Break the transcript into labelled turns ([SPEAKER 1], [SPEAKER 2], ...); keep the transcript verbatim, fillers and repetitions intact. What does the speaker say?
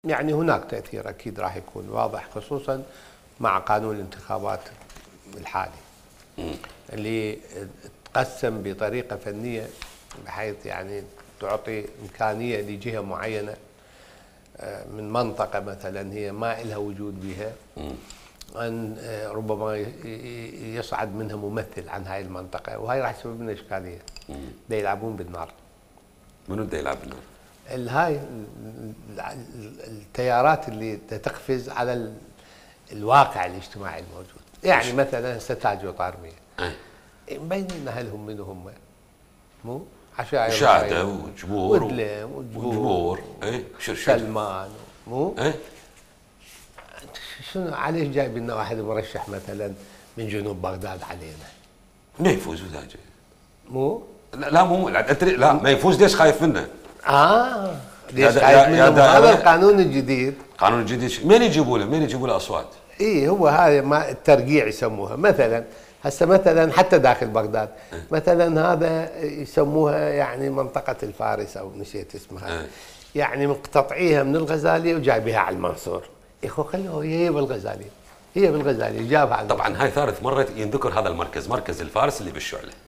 [SPEAKER 1] يعني هناك تأثير أكيد راح يكون واضح، خصوصا مع قانون الانتخابات الحالي اللي تقسم بطريقة فنية بحيث يعني تعطي إمكانية لجهة معينة من منطقة مثلا هي ما إلها وجود بها أن ربما يصعد منها ممثل عن هاي المنطقة، وهي راح تسبب لنا إشكالية. دا يلعبون بالنار.
[SPEAKER 2] منو دا يلعب بالنار؟
[SPEAKER 1] هاي التيارات اللي تقفز على الواقع الاجتماعي الموجود. يعني مثلا هسه تاج وطارمية مبينين هل هم منو هم؟ مو؟ عشائر
[SPEAKER 2] مشاهدة وجمهور
[SPEAKER 1] ودلم
[SPEAKER 2] وجمهور اي
[SPEAKER 1] سلمان مو؟
[SPEAKER 2] اي
[SPEAKER 1] شنو عليش جايب لنا واحد مرشح مثلا من جنوب بغداد علينا؟
[SPEAKER 2] ما يفوز وذاك
[SPEAKER 1] مو؟
[SPEAKER 2] لا لا مو لا ما يفوز ليش خايف منه؟
[SPEAKER 1] اه ليش خايف منه؟ هذا القانون الجديد.
[SPEAKER 2] القانون الجديد مين يجيبوا له؟ مين يجيبوا له اصوات؟
[SPEAKER 1] اي هو هذا ما الترقيع يسموها مثلا. هسه مثلا حتى داخل بغداد
[SPEAKER 2] اه.
[SPEAKER 1] مثلا هذا يسموها يعني منطقة الفارس او نسيت اسمها اه. يعني مقتطعيها من الغزالية وجايبها على المنصور. يا اخو خلوه هي بالغزالية، هي بالغزالية جابها على
[SPEAKER 2] طبعا هاي ثالث مرة ينذكر هذا المركز، مركز الفارس اللي بالشعلة.